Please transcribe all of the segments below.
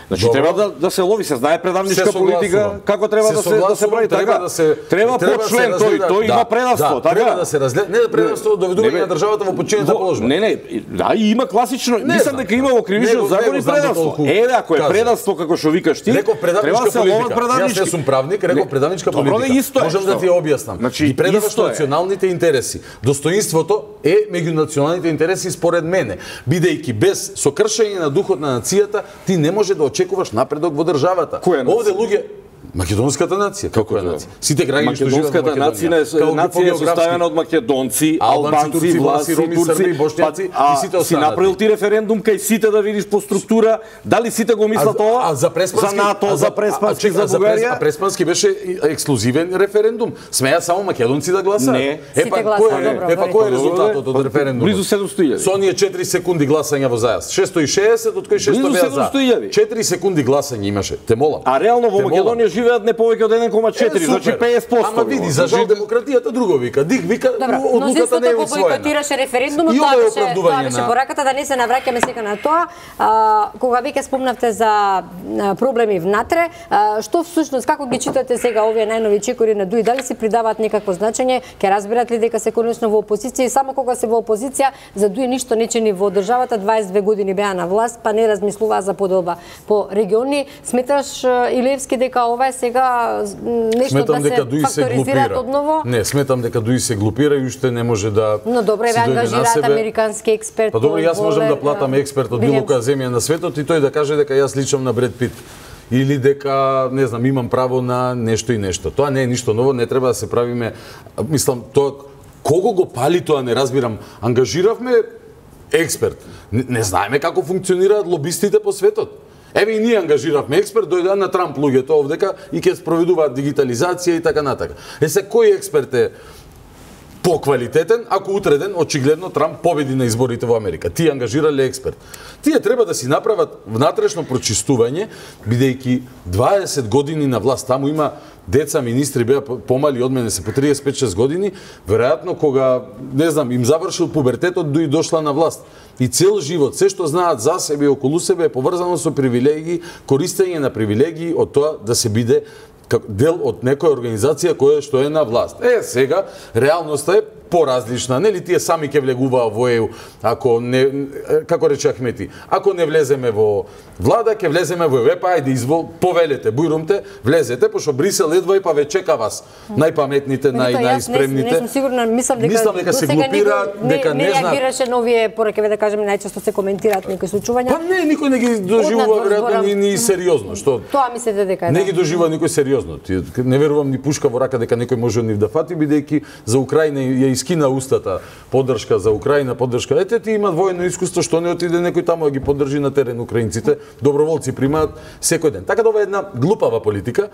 Значи треба да се лови, се знае предавничка политика, како треба да се прави така. Треба по член тој има предавство, така. Треба да се разгледа, не да предавство доведување на државата во подчинета положба. Не, да, и има класично, мислам дека има во кривичниот закон и предавство. Еве, ако е предавство како што викаш ти, треба да се ловат предавнички. Јас не сум правник, реков предавничка политика. Можам да ти ја објаснам. И предаваш националните интереси. Достоинството е меѓу националните интереси според мене. Бидејќи без со кршење на духот на нацијата, ти не може да очекуваш напредок во државата. Овде луѓе македонската нација, како е нација? Сите граѓани што живеат во Македонија. Нација е составена од македонци, албанци, власи, турци, бошњаци и сите останати. Си направил ти референдум кај сите да видиш по структура, дали сите го мислат ова? За НАТО, за Преспански, за Бугарија? А Преспански беше ексклузивен референдум. Смеа само македонци да гласаат. Не. Епа кој е резултатот од референдумот? Близу 700.000. Со оние 4 секунди гласање во зајас. 660 од кои 600 беа за. 4 секунди гласање имаше. Те молам. А реално во Македонија живеат не повеќе од 1,4, значи 50%. Ама види, за жал демократијата друго вика. Дик вика, одлуката не е усвоена. Бойкотираше референдумот, тоа беше пораката, да не се навраќаме сега на тоа. Кога веќе спомнавте за проблеми внатре, што всушност, како ги читате сега овие најнови чекори на ДУИ, дали си придаваат некакво значење, ќе разберат ли дека се конечно во опозиција и само кога се во опозиција за ДУИ ништо не чини во државата, 22 години беа на власт, па не размислуваа за поделба по региони. Сметаш, Илевски, дека ова е сега нешто да се факторизираат одново? Не, сметам дека ДУИ се глупира и уште не може да. Но добре, ве ангажираат американски експерт. Па добро, јас можам да платам експерт од било која земја на светот и тој да каже дека јас личам на Бред Пит. Или дека, не знам, имам право на нешто и нешто. Тоа не е ништо ново, не треба да се правиме, мислам, тоа кого го пали тоа не разбирам. Ангажиравме експерт. Не знаеме како функционираат лобистите по светот. Еве и ние ангажиравме експерт, дојдоа на Трамп луѓето овдека и ќе спроведуваат дигитализација и така натака. Се кој експерт е поквалитетен, ако утреден очигледно Трамп победи на изборите во Америка? Тие ангажирале експерт. Тие треба да си направат внатрешно прочистување, бидејќи 20 години на власт, таму има деца министри беа помали од мене, се по 35-6 години, веројатно кога, не знам, им завршил пубертетот, ДУИ дошла на власт. И цел живот, се што знаат за себе и околу себе е поврзано со привилегии, користење на привилегии од тоа да се биде дел од некоја организација која што е на власт. Сега реалноста е поразлична, нели тие сами ќе влегуваа во ЕУ, ако не, како рече Ахмети, ако не влеземе во влада, ќе влеземе во ЕУ, па ајде извол, повелете, бујрумте, влезете, пошто Брисел едва и па ве чека вас, најпаметните, најспремните. Не сум сигурна, мислам дека се глупираат, дека не знаат. Не реагираше на овие пораки, да кажеме, најчесто се коментираат некои случувања. Па не, никој не ги доживува веројатно ни сериозно, што? Тоа мислите дека не ги доживува никој сериозно. Не верувам ни пушка во рака дека некој може од нив да фати, бидејќи за Украина ја искина устата поддршка за Украина, поддршка. Ете, ти имаат воено искуство, што не отиде некој таму да ги поддржи на терен украинците. Доброволци примаат секој ден. Така да ова е една глупава политика.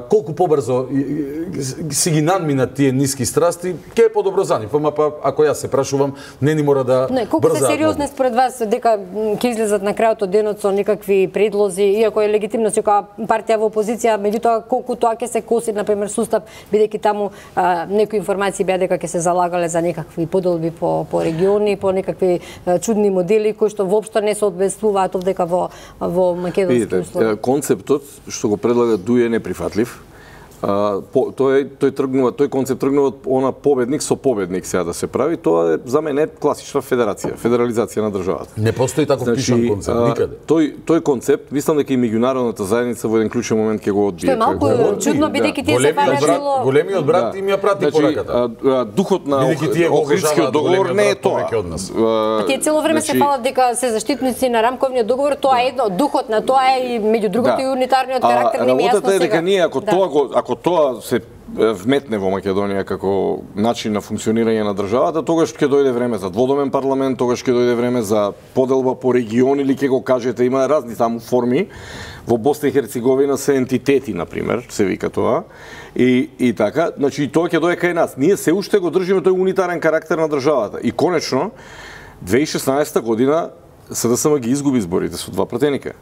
Колку побрзо си ги надминат тие ниски страсти, ќе е подобро за нив. Ама па ако јас се прашувам, не ни мора да брзаат. Колку се сериозни според вас дека ќе излезат на крајот од денот со некакви предлози, иако е легитимно секоја партија во опозиција, меѓутоа колку тоа ќе се коси, например, сустав, бидејќи таму некои информации беа дека ќе се залагале за некакви поделби по региони, по некакви чудни модели кои што воопшто не се одбествуваат овдека во македонски услови. Концептот што го предлага ДУИ е неприфатлив. Тој концепт тргнува од она победник со победник сега да се прави, тоа е за мене класична федерација, федерализација на државата. Не постои таков пишан концепт никаде. Тој концепт, мислам дека и меѓународната заедница во еден клучен момент ќе го одбие. Што е малку чудно бидејќи тие се баражило. Големиот брат им ја прати пораката. Духот на Охридскиот договор не е тоа. Тие цело време се фалат дека се заштитници на рамковниот договор, тоа е едно, духот на тоа е и меѓу другото и унитарниот карактер не ми јасно сега. Работата е дека ние ако тоа се вметне во Македонија како начин на функционирање на државата, тогаш ќе дојде време за дводомен парламент, тогаш ќе дојде време за поделба по региони или ќе го кажете, има разни таму форми. Во Босна и Херцеговина се ентитети, например, се вика тоа. И така, значи тоа ќе дојде кај нас. Ние се уште го држиме тој унитарен карактер на државата. И конечно 2016 година СДСМ ги изгуби изборите со два пратеника.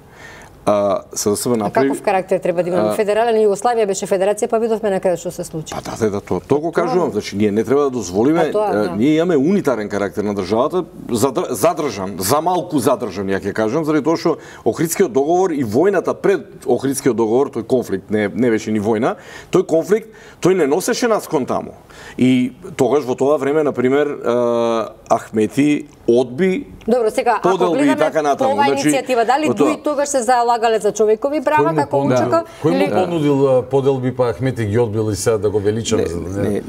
СДСМ направи... Каков карактер треба да имаме? Федерален Југославија беше федерација, па видовме на крај што се случи. Да, тоа го кажувам. Значи, ние не треба да дозволиме, ние имаме унитарен карактер на државата, задржан, за малку задржан, ја ќе кажам, заради тоа што Охридскиот договор и војната пред Охридскиот договор, тој конфликт не беше ни војна, тој конфликт, тој не носеше нас кон таму. И тогаш во тоа време, например, Ахмети одби поделби и така натаму. Ова иницијатива, дали Дуи тогаш се залагале за човекови права како Учаков? Кој му понудил поделби, па Ахмети ги одбил и сега да го величаме?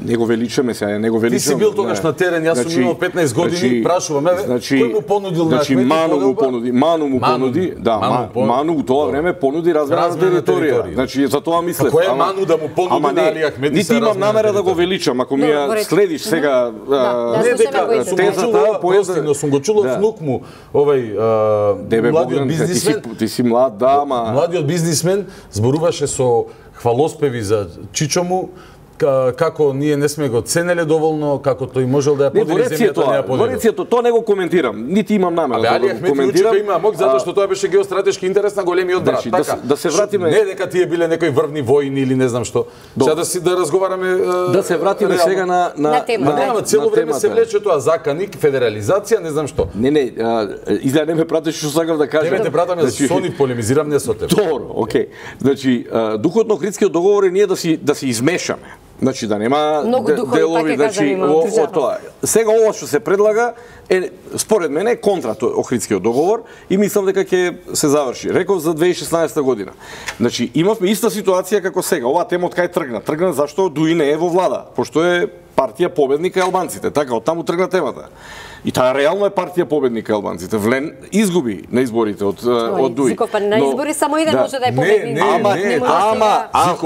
Не го величаме сега, не го величаме. Ти си бил тогаш на терен, јас сум имал 15 години, прашувам, кој му понудил на Ахмети поделба? Ману му понуди, да, Ману у тоа време понуди размена на територија. Значи, за тоа мислев. Кој е Ману да му понуди на Али Ахмети? Нити имам намера да го величам, ако ми ја следиш сега тезата, но сум го чул од внук му, младиот бизнисмен. Ти си млад, да, ама... Младиот бизнисмен зборуваше со хвалоспеви за чичо му, како ние не сме го ценеле доволно, како тој можел да ја подели земјата, не ја подели. Во тоа не го коментирам, нити имам намера да го коментирам. Али има мог затоа што тоа беше геостратешки интерес на големиот брат. Така, да се вратиме... Не дека тие биле некои врвни војни или не знам што. Сега да разговараме... Да се вратиме сега на темата. Цело време се влече тоа заканик, федерализација, не знам што. Не, изгледа не ме пратиш што сакам да кажам. Не те пратам, јас со нив полемизирам, не со тебе. Добро, окей. Значи, духот на Охридскиот договор е ние да се измешаме. Значи да нема делови, значи во тоа. Сега ова што се предлага е според мене контра тој Охридскиот договор и мислам дека ќе се заврши. Реков за 2016 година. Значи имавме иста ситуација како сега. Оваа тема од кај тргна? Тргна зашто Дуи не е во влада, пошто е партија победника албанците. Така, од таму тргна темата. И таа реално е партија победника албанците. Влен изгуби на изборите од Дуи. Зиков, па на избори само еден може да е победник.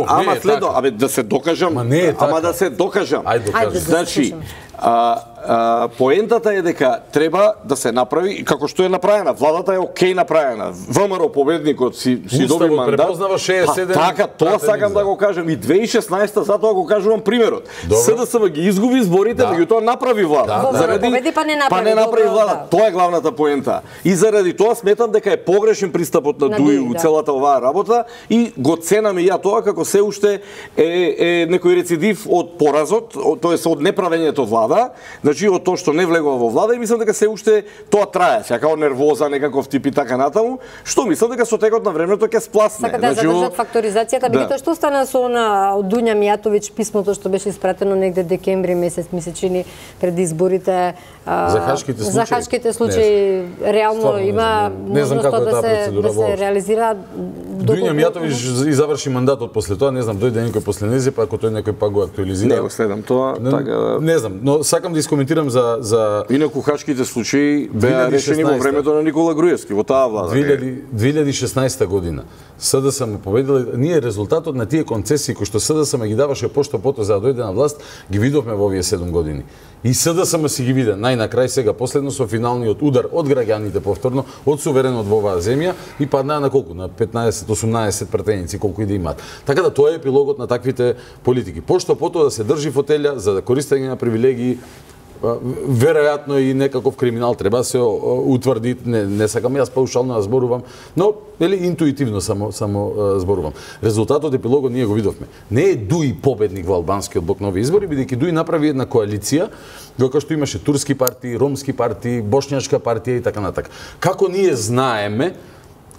Ама следно, да се докажам. Ама да се докажам. Значи, поентата е дека треба да се направи како што е направена. Владата е окей направена. ВМРО победникот си доби мандат. Препознава 67. Така, тоа сакам да го кажам и 2016 затоа го кажувам примерот. СДСМ ги изгуби изборите, меѓутоа направи влада. Заради па не направи влада. Тоа е главната поента. И заради тоа сметам дека е погрешен пристапот на Дуи у целата оваа работа и го ценам и ја тоа како се уште е некој рецидив од поразот, тоест од неправењето влада. Значи од тоа што не влегува во влада и мислам дека се уште тоа трае, сега како нервоза, некаков тип и така натаму, што мислам дека со текот на времето ќе спласне. Сака да задржат факторизацијата, меѓутоа што стана со од Дуња Мијатовиќ писмото што беше испратено негде декември месец, ми се чини пред изборите за хашките случаи реално има можност да се реализира. Дуња Мијатовиќ и заврши мандатот после тоа, не знам, дојде некој после незе, па ако тој некој па го актуализира. Не го следам тоа, така. Не знам, но сакам да искоментирам за инаку хашките случаи беа решени во времето на Никола Груевски, во таа влада. 2016 година СДСМ победила, ние резултатот на тие концесии кои што СДСМ ги даваше пошто-пото за да дојде на власт, ги видовме во овие 7 години. И СДСМ си ги виде најнакрај сега последно со финалниот удар од граѓаните повторно, од суверенот во оваа земја и паднаа на колку? На 15-18 пратеници колку и да имаат. Така да тоа е епилогот на таквите политики. Пошто-пото да се држи фотелја за да користење на привилегии, веројатно и некаков криминал треба да се утврди, не сакам јас паушално да зборувам, но интуитивно само зборувам. Резултатот епилогот ние го видовме. Не е Дуи победник во албанскиот блок нови избори, бидејќи Дуи направи една коалиција кога што имаше турски партии, ромски партии, бошњашка партија и така натака. Како ние знаеме,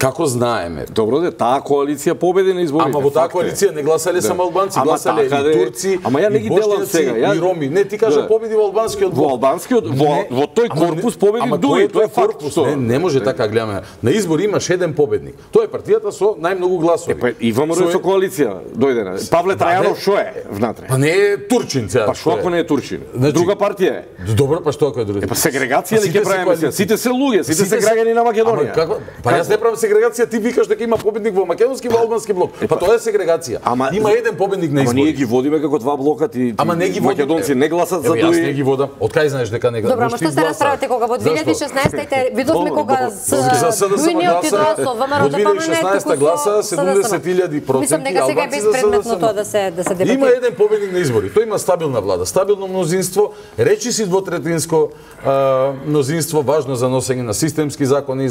Добро де, таа коалиција победи на изборите. Ама во таа коалиција не гласале само албанци, гласале и турци, и бошњаци, и роми. Не, ти кажа победи во албанскиот блок. Во албанскиот, во тој корпус победи Дуи, тоа е факт. Не може така гледаме. На избори имаш еден победник. Тоа е партијата со најмногу гласови. И ВМРО со коалиција дојде. Павле Трајанов што е внатре? Па не е турчин сега. Па што ако не е турчин? Друга партија е. Добро, па што ако е друга? Па сегрегација ли ќе правиме сега? Сите се луѓе, сите се граѓани на Македонија. Па јас не правам сегрегација, ти викаш дека има победник во македонски и во албански блок. Па тоа е сегрегација. Има еден победник на избори. Ама ние ги водиме како два блока, ти македонци не гласат за Дуи. Јас не ги водам. Од кај знаеш дека не гласат? Добро, ама што се расправате кога во 2016 видовме кога Дуи не отидоа со ВМРО да помине 2016 гласа 70.000%. Мислам дека сега е безпредметно тоа да се дебатира. Има еден победник на избори. Тој има стабилна влада, стабилно мнозинство, речиси двотретинско мнозинство, важно за носење на системски закони,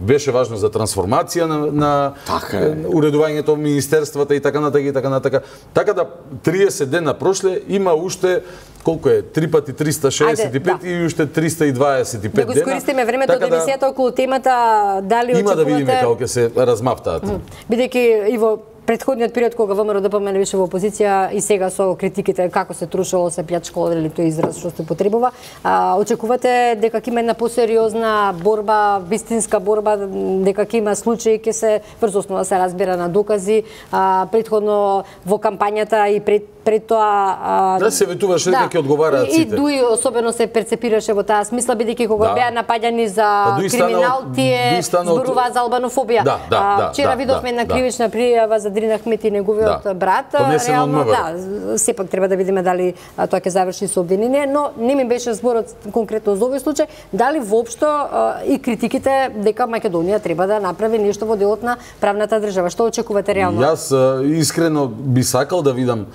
беше важно за трансформација трансформација на уредувањето во министерствата и така натака. Така да 30 дена прошле има уште колку е 3 пати 365 и уште 325 дена. Да го искористиме времето од емисијата околу темата дали очекувате. Има да видиме како ќе се размафтаат. Бидејќи и во претходниот период кога ВМРО-ДПМН беше во опозиција и сега со критиките како се трушело, се плячкало, или тој израз што се потребува, очекувате дека ќе има една посериозна борба, вистинска борба, дека ќе има случаи ќе се врз основа се разбира на докази, претходно во кампањата и пред тоа да се ветуваше дека ќе одговараат сите. И дуи особено се перцепираше во таа смисла, бидејќи кога беа напаѓани за криминал, тие зборуваа за албанофобија. Вчера видовме една кривична пријава за Дрин Ахмет и неговиот брат. Реално, сепак треба да видиме дали тоа ќе заврши со обвинение, но не ми беше зборот конкретно за овој случај, дали воопшто и критиките дека Македонија треба да направи нешто во делот на правната држава. Што очекувате реално? Јас искрено би сакал да видам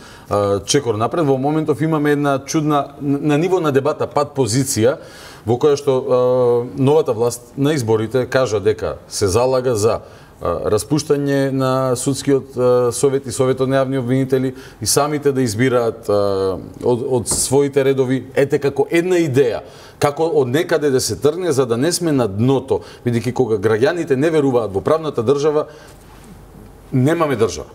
чекор напред. Во моментов имаме една чудна на ниво на дебата пат позиција во која што новата власт на изборите кажа дека се залага за распуштање на судскиот совет и советот на јавни обвинители и самите да избираат од своите редови, ете како една идеја, како од некаде да се тргне за да не сме на дното, бидејќи кога граѓаните не веруваат во правната држава, немаме држава.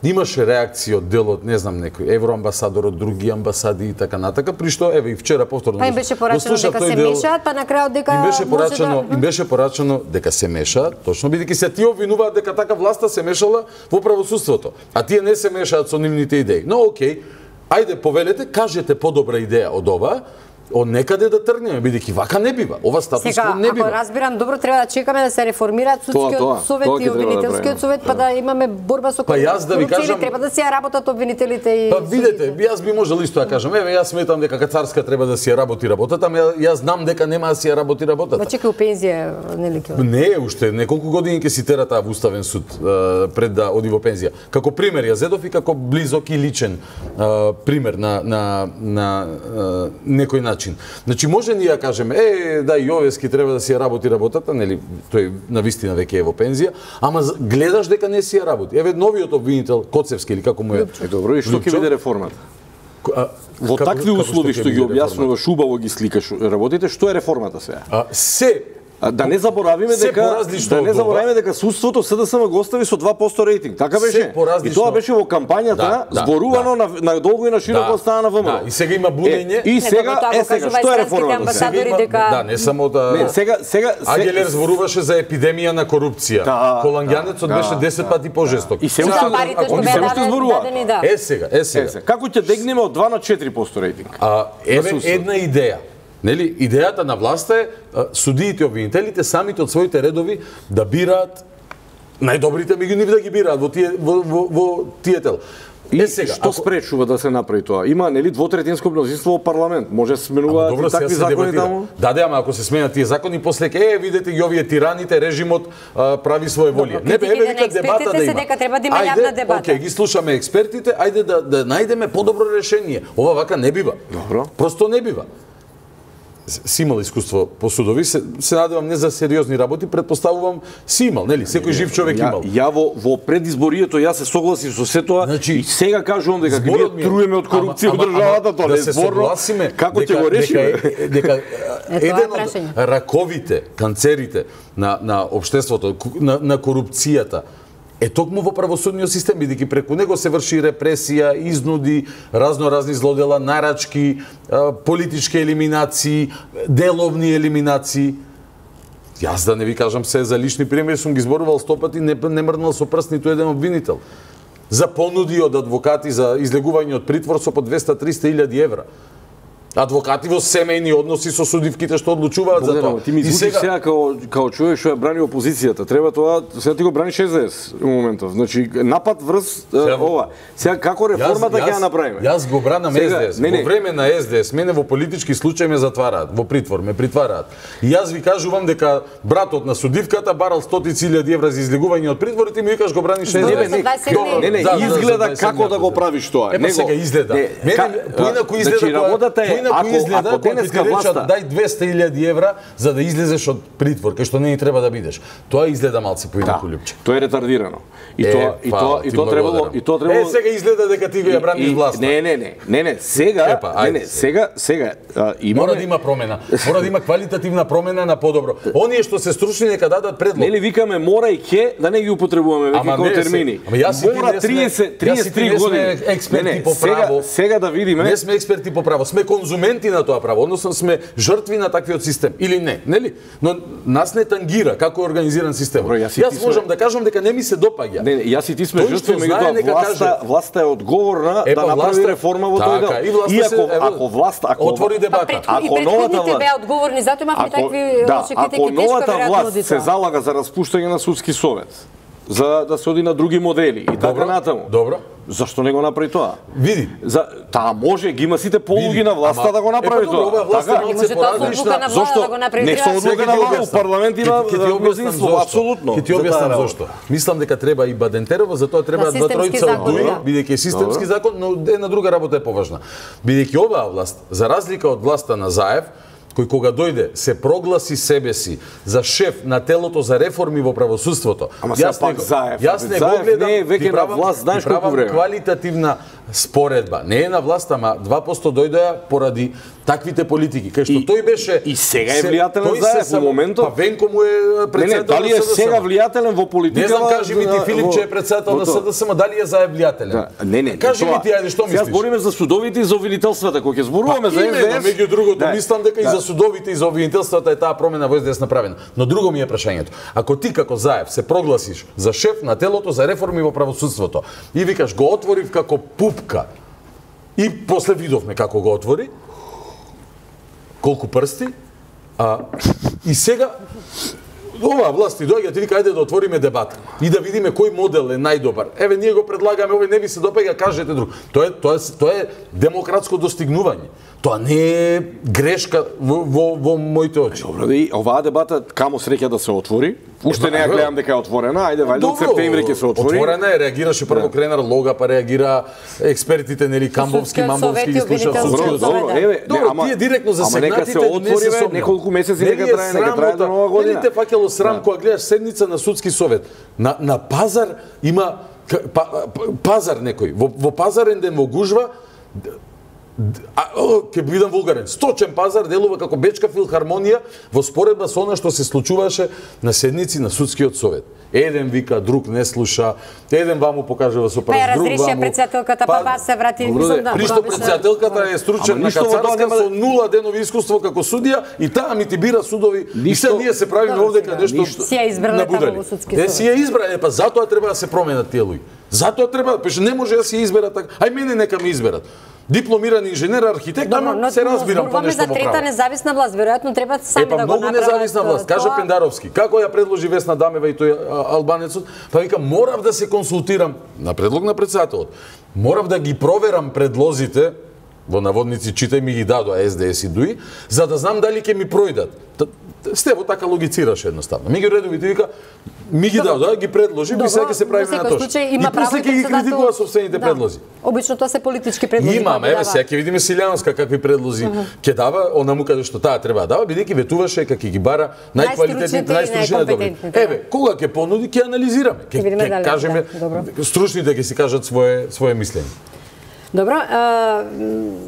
Имаше реакција од делот, не знам, некој евроамбасадор од други амбасади и така натака, при што еве и вчера повторно. Па им беше порачено дека се мешаат, па на крајот дека им беше порачено дека се мешаат, точно бидејќи се тие обвинуваат дека така власта се мешала во правосудството, а тие не се мешаат со нивните идеи. Но окей, ајде повелете, кажете подобра идеја од ова, од некаде да тргнеме, бидејќи вака не бива. Ова статус кво не бива. Ако разбирам добро, треба да чекаме да се реформираат судскиот совет и обвинителскиот совет, па да имаме борба со корупција, треба да си ја работат обвинителите и Па видете, јас би можел исто да кажам, еве јас сметам дека царска треба да си ја работи работата, ама јас знам дека нема да си ја работи работата. Па чекај у пензија, нели ќе? Не, уште неколку години ќе си тера таа во уставен суд пред да оди во пензија. Како пример ја зедов и како близок и личен пример на некој начин. Значи може ни ја кажеме, да Јовески треба да си ја работи работата, нели, тој на вистина веќе е во пензија, ама гледаш дека не си ја работи. Еве новиот обвинител Коцевски или како му е. Добро, и што ќе биде реформата? Во такви услови што ги објаснуваш, убаво ги сликаш работите, што е реформата сега? Да не заборавиме дека судството СДСМ го остави со 2% рейтинг. Така беше. И тоа беше во кампањата зборувано на долго и на широко од страна на ВМРО. И сега има бунење. И сега што е реформата? Да, не само да. Сега Агелер зборуваше за епидемија на корупција. Колангјанецот беше 10 пати пожесток. И се уште зборува. Е сега. Како ќе дегнеме од 2 на 4% рейтинг? Еве една идеја. Нели, идејата на власта е судиите и обвинителите самите од своите редови да бираат најдобрите меѓу нив, да ги бираат во тие тел. И сега, што спречува да се направи тоа? Има нели двотретинско мнозинство во парламент, може да сменуваат и такви закони таму? Да, ама ако се сменат тие закони, после видете ги овие тираните, режимот прави своја волја. Не еве вика дебата да има. Дека треба да има јавна дебата. Океј, ги слушаме експертите, ајде да најдеме подобро решение. Ова вака не бива. Добро. Просто не бива. Си имал искуство по судови, се надевам не за сериозни работи, предпоставувам си имал, нели? Секој жив човек имал. Ја во предизборието ја се согласив со се тоа, и сега кажувам дека ние труеме од корупција во државата, тоа не е зборно. Како ќе го решиме? Дека еден од раковите, канцерите на општеството, на корупцијата е токму во правосудниот систем, бидејќи преку него се врши репресија, изнуди, разни злодела, нарачки, политички елиминации, деловни елиминации. Јас да не ви кажам се за лични примери, сум ги зборувал 100 пати, не мрднал со прст ниту еден обвинител. За понуди од адвокати за излегување од притвор со по 200-300 илјади евра. Адвокати во семејни односи со судивките што одлучуваат за тоа. Ти ми звучиш сега као човек што ја брани опозицијата. Треба тоа, сега ти го браниш СДС во моментов. Значи напад врз ова. Сега како реформата ќе ја направиме? Јас го бранам СДС. Во време на СДС мене во политички случаи ме затвараат, во притвор ме притвараат. И јас ви кажувам дека братот на судивката барал 100.000 евра за излегување од притвор и ти ми викаш го браниш СДС. Не, изгледа како да го правиш тоа. Епа сега изгледа. Поинаку изгледа поинаку изгледа кога ти речат дај 200.000 евра за да излезеш од притвор, кај што не треба да бидеш. Тоа изгледа малце поинаку, Лјупче. Тоа е ретардирано. И тоа требало. Сега изгледа дека ти го ја браниш власта. Не, сега имаме... Мора да има промена. Мора да има квалитативна промена на подобро. Оние што се стручни нека дадат предлог. Нели викаме мора и ке да не ги употребуваме веќе како термини. Мора 33 години експерти по право. Сега да видиме. Не сме експерти по право, сме конзументи на тоа право, односно сме жртви на таквиот систем или не, нели? Но нас не тангира како е организиран системот. Јас можам да кажам дека не ми се допаѓа. Не, јас и ти сме жртви, меѓутоа власта е одговорна да направи реформа во тој дел. И ако власта отвори дебата, ако новата власт беа одговорни, затоа имавме такви лоши критики, ако новата власт се залага за распуштање на судски совет, за да се оди на други модели и така натаму. Добро. Зашто не го направи тоа? Види. Таа може, ги има сите полуги на власта да го направи тоа. Така, може тоа со одлука на власта да го направи. Не со одлука на власта, у парламент има мнозинство, апсолутно. Ќе ти објаснам зошто. Мислам дека треба и Бадентерова, затоа треба два тројца од ДУИ, бидејќи е системски закон, но една друга работа е поважна. Бидејќи оваа власт, за разлика од власта на Заев, кој кога дојде се прогласи себе си за шеф на телото за реформи во правосудството. Јас не го гледам, веќе на власт, знаеш колку време. Квалитативна споредба. Не е на власт, ама 2% дојдоа поради таквите политики, кај што тој беше и сега е влијателен Заев во моментот. Па Венко му е председател. Дали е сега влијателен во политиката? Не знам, кажи ми ти Филип че е председател на СДСМ, дали е Заев влијателен? Не. Кажи ми ти, ајде, што мислиш? Сега збориме за судовите и за обвинителствата, кога ќе зборуваме за СДС. Меѓу другото, мислам дека и за судовите и за обвинителствата е таа промена во СДС направена. Но друго ми е прашањето. Ако ти како Заев се прогласиш за шеф на телото за реформи во правосудството и викаш го отворив како пупка и после видовме како го отвори, колку прсти, и сега оваа власт и доаѓа ти вика ајде да отвориме дебата и да видиме кој модел е најдобар. Еве ние го предлагаме, овој не ви се допаѓа, кажете друг. Тоа е демократско достигнување. Тоа не е грешка во моите очи. Добро, и оваа дебата камо среќа да се отвори. Уште не ја гледам дека е отворена, ајде вајде од септември ќе се отвори. Отворена е, реагираше прво Кренар Лога, па реагира експертите нели Камбовски, Мамбовски ги слуша судскиот совет. Добро, тие директно засегнатите не се сомнам. Неколку месеци нека трае до нова година. Нели те фаќало срам кога гледаш седница на судски совет. На пазар има пазар некој. Во пазарен ден во гужва ќе бидам вулгарен. Сточен пазар делува како Бечка филхармонија во споредба со она што се случуваше на седници на судскиот совет. Еден вика, друг не слуша, еден ваму покажува со прст, друг ваму. Разрешија председателката, па вас се врати. Присто председателката е стручен на Кацарска со 0 денови искуство како судија и таа ми ти бира судови. И се ние се правиме овде каде нешто. Си ја избрале таму во судски совет. Си ја избрале, па затоа треба да се променат тие луѓе. Затоа треба, пеше не може да си изберат така. Ај мене нека ме изберат. Дипломиран инженер, архитект, ама се разбирам по нешто во право. За трета независна власт, веројатно треба сами да го направат. Многу независна власт, кажа Пендаровски. Како ја предложи Весна Дамева и тој албанецот, па вика морав да се консултирам на предлог на председателот. Морав да ги проверам предлозите, во наводници читај ми ги дадоа СДС и ДУИ, за да знам дали ќе ми пројдат. Стево така логицираше едноставно. Меѓу редовите вика ми ги дадоа, ги предложи, и сега ќе се правиме на тоа. И после ќе ги критикува собствените предлози. Обично тоа се политички предлози. Имаме, еве сега ќе видиме Силјанска какви предлози ќе дава, онаму каде што таа треба да дава, бидејќи ветуваше како ги бара најквалитетните, најстручни добри. Еве, кога ќе понуди, ќе анализираме. Ќе кажеме, стручните ќе си кажат свое мислење. Добро,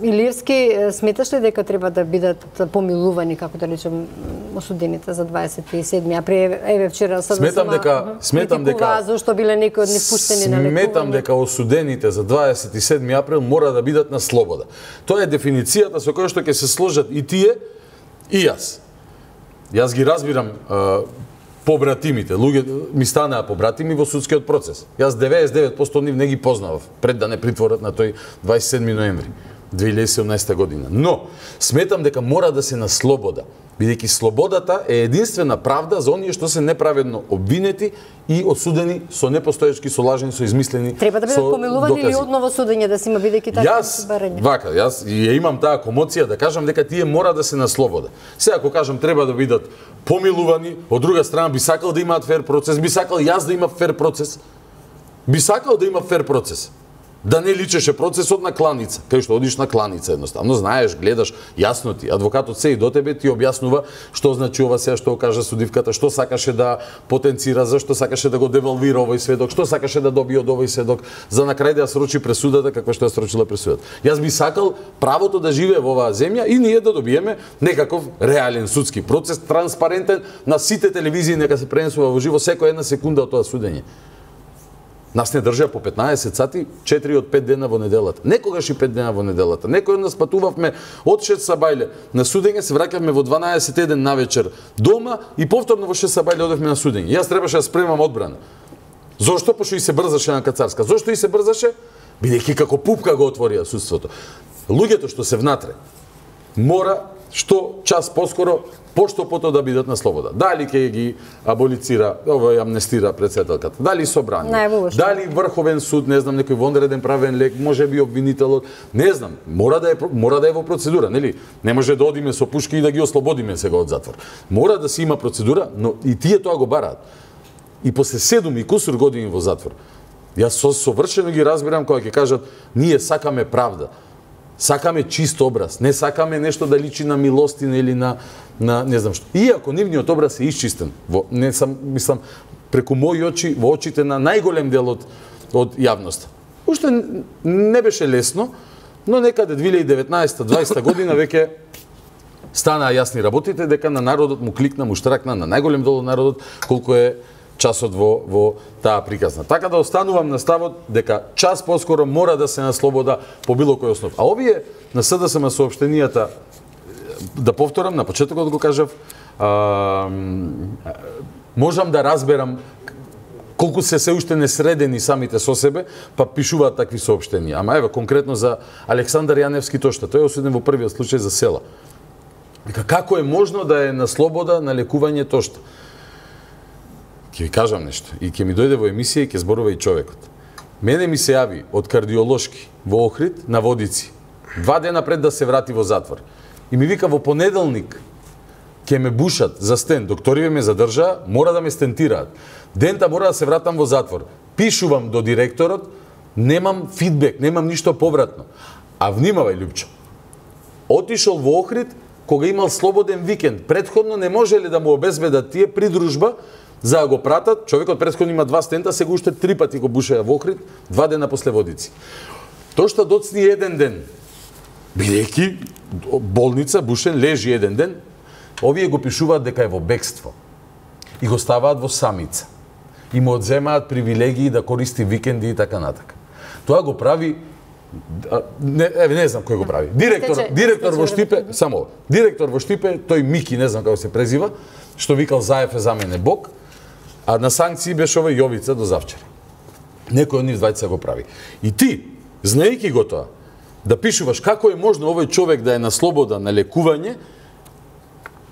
Илиевски, сметаш ли дека треба да бидат помилувани, како да речем, осудените за 27 април? Еве вчера сметам дека зашто биле некои од нив пуштени на лекување. Сметам дека осудените за 27 април мора да бидат на слобода. Тоа е дефиницијата со која што ќе се сложат и тие и јас. Јас ги разбирам побратимите, луѓе ми станаа побратими во судскиот процес. Јас 99% од нив не ги познавав пред да не притворат на тој 27 ноември 2017 година. Но сметам дека мора да се на слобода, бидејќи слободата е единствена правда за оние што се неправедно обвинети и осудени со непостоечки, со лажни, со измислени. Треба да бидат помилувани или одново судење да се има, бидејќи така барање. Јас ја имам таа комоција да кажам дека тие мора да се на слобода. Сега ако кажам треба да бидат помилувани, од друга страна би сакал да имаат фер процес, би сакал јас да имам фер процес. Би сакал да има фер процес. Да не личеше процесот на кланица, кај што одиш на кланица едноставно, знаеш, гледаш, јасно ти, адвокатот се и до тебе ти објаснува што значи ова сега што кажа судивката, што сакаше да потенцира, зашто сакаше да го девалвира овој сведок, што сакаше да добие од овој сведок, за на крај да ја срочи пресудата каква што ја срочила пресудата. Јас би сакал правото да живее во оваа земја и ние да добиеме некаков реален судски процес, транспарентен, на сите телевизии нека се пренесува во живо секоја една секунда од тоа судење. Нас не држа по 15 сати, 4 од 5 дена во неделата. Некогаш и 5 дена во неделата. Некој од нас патувавме од 6 сабајле на судење, се враќавме во 12:01 навечер дома и повторно во 6 сабајле одевме на судење. Јас требаше да спремам одбрана. Зошто? Пошто и се брзаше на Кацарска. Зошто и се брзаше? Бидејќи како пупка го отворија судството. Луѓето што се внатре мора што час поскоро поштопото да бидат на слобода. Дали ќе ги аболицира, амнестира претседателката, дали собрание, дали Врховен суд, не знам, некој вонреден правен лек, може би обвинителот, не знам, мора да е во процедура, нели? Не може да одиме со пушки и да ги ослободиме сега од затвор. Мора да се има процедура, но и тие тоа го бараат. И после 7 и кусур години во затвор, јас совршено ги разбирам кога ќе кажат, ние сакаме правда. Сакаме чист образ, не сакаме нешто да личи на милостина или на не знам што. Иако нивниот образ е исчистен, мислам, преку мои очи, во очите на најголем дел од јавноста. Уште не беше лесно, но некаде 2019-2020 година веќе станаа јасни работите дека на народот му кликна, му штракна, на најголем дел од народот, колку е часот во таа приказна. Така да останувам на ставот дека час поскоро мора да се на слобода по било кој основ. А овие на СДСМ соопштенијата, да повторам, на почетокот го кажав, можам да разберам колку се уште несредени самите со себе, па пишуваат такви соопштенија. Ама еве, конкретно за Александар Јаневски Тошта, тој е осуден во првиот случај за села. Како е можно да е на слобода на лекување Тошта? Ќе ви кажам нешто и ќе ми дојде во емисија и ќе зборува и човекот. Мене ми се јави од кардиолошки во Охрид на Водици, 2 дена пред да се врати во затвор. И ми вика во понеделник ќе ме бушат за стен, докториве ме задржаа, мора да ме стентираат. Дента мора да се вратам во затвор. Пишувам до директорот, немам фидбек, немам ништо повратно. А внимавај, Лјупчо, отишол во Охрид кога имал слободен викенд. Претходно не можеле да му обезбедат тие придружба за да го пратат. Човекот претходно има 2 стента, сега уште 3 пати го бушаја во Охрид, 2 дена после Водици. Тошта доцни 1 ден. Бидејќи болница, бушен, лежи 1 ден, овие го пишуваат дека е во бегство. И го ставаат во самица. И му одземаат привилегии да користи викенди и така натака. Тоа го прави не знам кој го прави. Директор во Штипе, само директор во Штипе, тој Мики, не знам како се презива, што викал Заев е за мене Бог, а на санкции беше овој Јовица до завчера. Некој од нив двајца го прави. И ти, знаејќи го тоа, да пишуваш како е можно овој човек да е на слобода на лекување,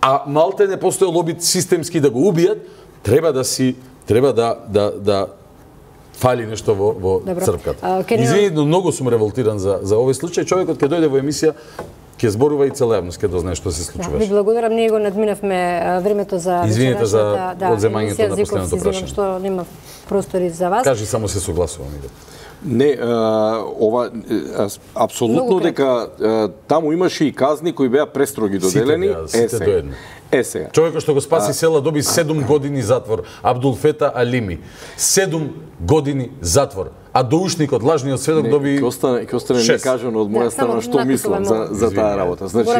а малте не постои лоби системски да го убијат, треба да фали нешто во црпката. Извини, но многу сум револтиран за овој случај. Човекот ќе дојде во емисија, ќе зборува и цела јавност ќе дознае што се случуваше. Ви благодарам, ние го надминавме времето за извинете за одземањето на последното прашање. Што нема простори за вас. Кажи, само се согласувам. Не, ова апсолутно дека таму имаше и казни кои беа престроги доделени. Сега. Човекот што го спаси села доби 7 години затвор. Абдул Фета Алими. 7 години затвор. А доушникот, лажниот сведок доби... Ќе остане некажано од моја страна што мислам за таа работа. Значи,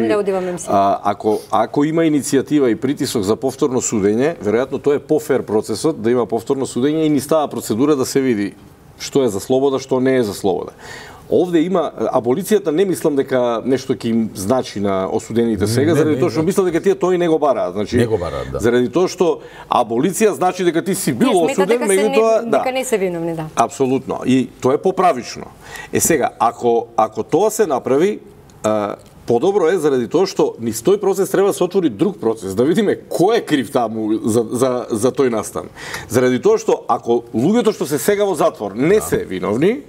ако има иницијатива и притисок за повторно судење, веројатно тоа е пофер процесот да има повторно судење и ни става процедура да се види што е за слобода, што не е за слобода. Овде има аболицијата, не мислам дека нешто ќе им значи на осудените сега, заради тоа што мислам дека тие тој не го бараат. Значи, не го бараат, да. Заради тоа што аболиција значи дека ти си бил осуден, меѓутоа дека не се виновни, да. Апсолутно. И тоа е поправично. Сега, ако тоа се направи, подобро е заради тоа што низ тој процес треба да се отвори друг процес, да видиме кој е крив таму за тој настан. Заради тоа што ако луѓето што се сега во затвор не се виновни,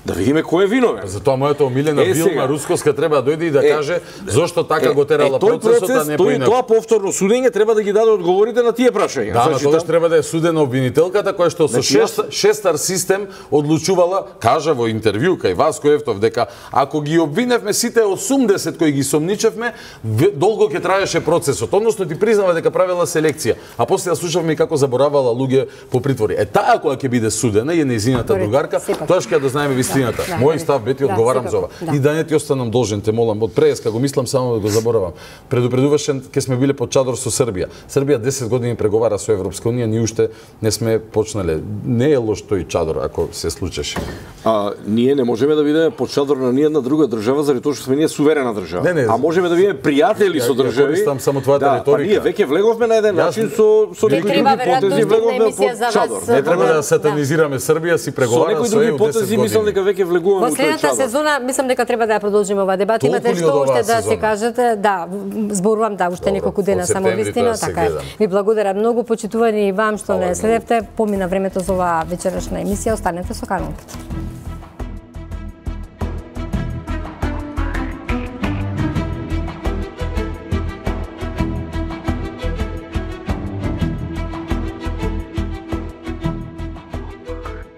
да видиме кој е виновен. Затоа мојата омилена Вилма Русковска треба да дојде и да каже зошто така го терала процесот, а не поинаку. Тоа повторно судење треба да ги даде одговорите на тие прашања. Да, на тогаш треба да е судена обвинителката која што со шестар систем одлучувала, кажа во интервју кај Васко Ефтов дека ако ги обвиневме сите 80 кои ги сомничевме, долго ќе траеше процесот. Односно ти признава дека правела селекција, а после ја слушавме како заборавала луѓе по притвори. Таа кога ќе биде судена и нејзината другарка, тоа ќе да знаеме вистината. Мој став бе, ти одговарам за ова. И да не ти останам должен, те молам, од преска го мислам само да го заборавам. Предупредуваше ке сме биле под чадор со Србија. Србија 10 години преговара со Европска унија, ние уште не сме почнале. Не е лош тој чадор ако се случеше. Ние не можеме да бидеме под чадор на ниедна друга држава заради тоа што сме ние суверена држава. Не, а можеме да бидеме пријатели со држави. Користам само твојата реторика. Ние веќе влеговме на еден начин со некои други потези, влеговме под чадор. Не треба да сатанизираме Србија, си преговара со ЕУ 10 години. Мислам дека веќе влегуваме во следната сезона, мислам дека треба да ја продолжиме оваа дебата. Имате што уште да се кажете? Да, зборувам уште неколку дена само вистина, така е. Ви благодарам многу, почитувани и вам што не следевте. Помина времето за оваа вечерашна емисија, останете со Канал 5.